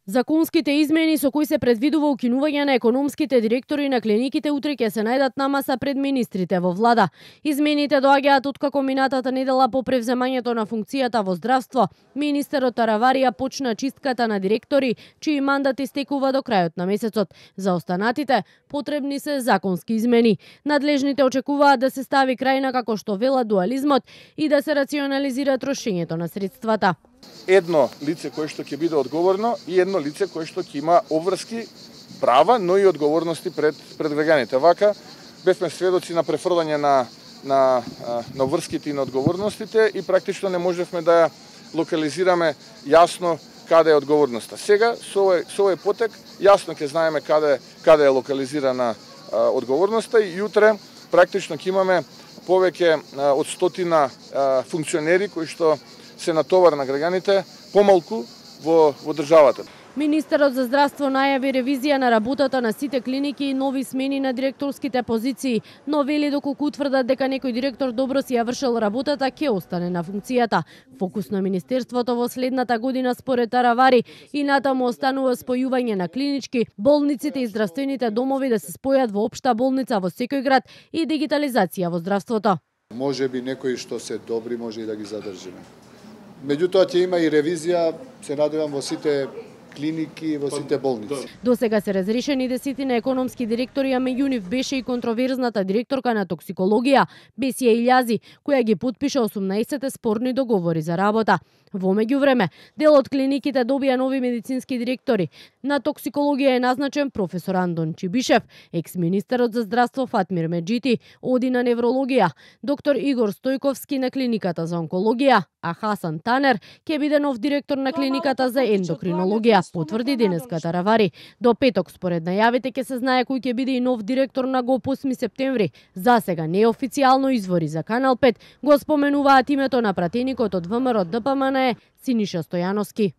Законските измени со кои се предвидува укинување на економските директори на клиниките утре ќе се најдат на маса пред министрите во влада. Измените доаѓаат откако минатата недела по превземањето на функцијата во здравство, министерот Тараварија почна чистката на директори чии мандат истекува до крајот на месецот. За останатите потребни се законски измени. Надлежните очекуваат да се стави крај на, како што вела, дуализмот и да се рационализира трошењето на средствата. Едно лице кое што ќе биде одговорно и едно лице кое што ќе има обврски, права, но и одговорности пред граѓаните. Вака бевме сведоци на префрлање на обврските и на одговорностите и практично не можевме да ја локализираме јасно каде е одговорноста. Сега со овој потек јасно ќе знаеме каде е локализирана одговорноста и утре практично ќе имаме повеќе од 100 функционери кои што се натовар на граѓаните помалку во државата. Министерот за здравство најави ревизија на работата на сите клиники и нови смени на директорските позиции, но вели доколку утврдат дека некој директор добро си ја вршил работата, ќе остане на функцијата. Фокус на министерството во следната година според Таравари и натаму останува спојување на клинички, болниците и здравствените домови да се спојат во општа болница во секој град и дигитализација во здравството. Може би некои што се добри може и да ги задржиме. Меѓутоа ќе има и ревизија, се надевам, во сите клиники, во сите болници. До сега се разрешени десетина економски директори, а меѓу нив беше и контроверзната директорка на токсикологија, Бесија Илјази, која ги потпиша 18 спорни договори за работа. Во меѓувреме, дел од клиниките добија нови медицински директори. На токсикологија е назначен професор Андон Чибишев, екс-министерот за здравство Фатмир Меджити оди на неврологија, доктор Игор Стојковски на клиниката за онкологија, а Хасан Танер ќе биде нов директор на клиниката за ендокринологија, потврди денеска Таравари. До петок според најавите ќе се знае кој ќе биде и нов директор на ГОП 8 септември. За сега неофицијално извори за Канал 5 го споменуваат името на пратеникот од ВМРО ДПМН Синиша Стојановски.